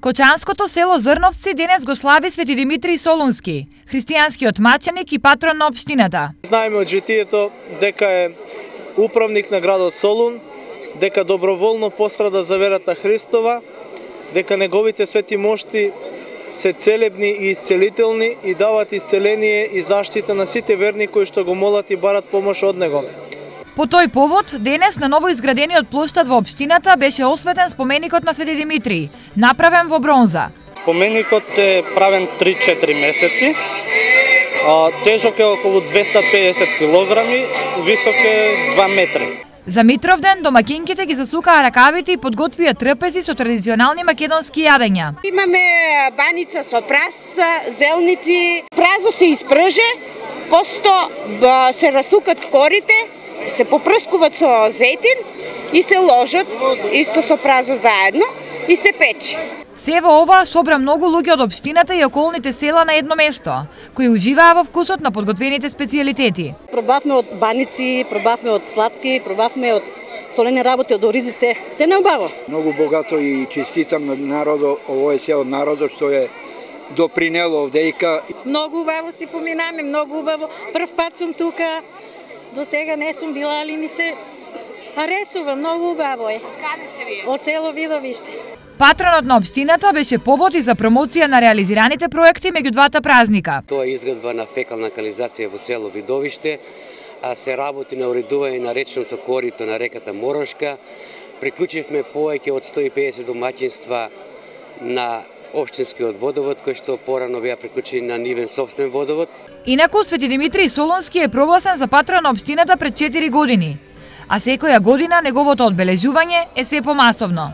Кочанското село Зрновци денес го слави Свети Димитрий Солунски, христијанскиот маченик и патрон на општината. Знаеме од житието дека е управник на градот Солун, дека доброволно пострада за верата Христова, дека неговите свети мошти се целебни и исцелителни и дават исцеление и заштита на сите верни кои што го молат и барат помош од него. По тој повод, денес на ново изградениот плоштад во општината беше осветен споменикот на Свети Димитрий, направен во бронза. Споменикот е правен 3-4 месеци, тежок е околу 250 килограми, висок е 2 метри. За Митровден домакинките ги засукаа ракавите и подготвија трпези со традиционални македонски јадења. Имаме баница со прас, зелници, празо се испрже, посто се расукат корите, се попрскуваат со зејтин и се ложат исто со празо заедно и се пече. Се во ова собра многу луѓе од општината и околните села на едно место, кои уживаа во вкусот на подготвените специјалитети. Пробавме од баници, пробавме од сладки, пробавме од солени работи, од оризи, се неубаво. Многу богато и честитам на народот, овој село народот што е допринело овдејка. Многу убаво си поминаме, многу убаво. Прв пат сум тука, до сега не сум била, али ми се аресува, многу убаво е. Каде сте вие? Од село Видовиште. Патронот на општината беше повод и за промоција на реализираните проекти меѓу двата празника. Тоа е изградба на фекална канализација во село Видовиште, а се работи на уредување на речното корито на реката Морошка. Приклучивме повеќе од 150 домаќинства на општинскиот водовод, кој што порано беа приклучени на нивен сопствен водовод. Инаку Свети Димитрий Солунски е прогласен за патрон на општината пред 4 години, а секоја година неговото одбележување е се помасовно.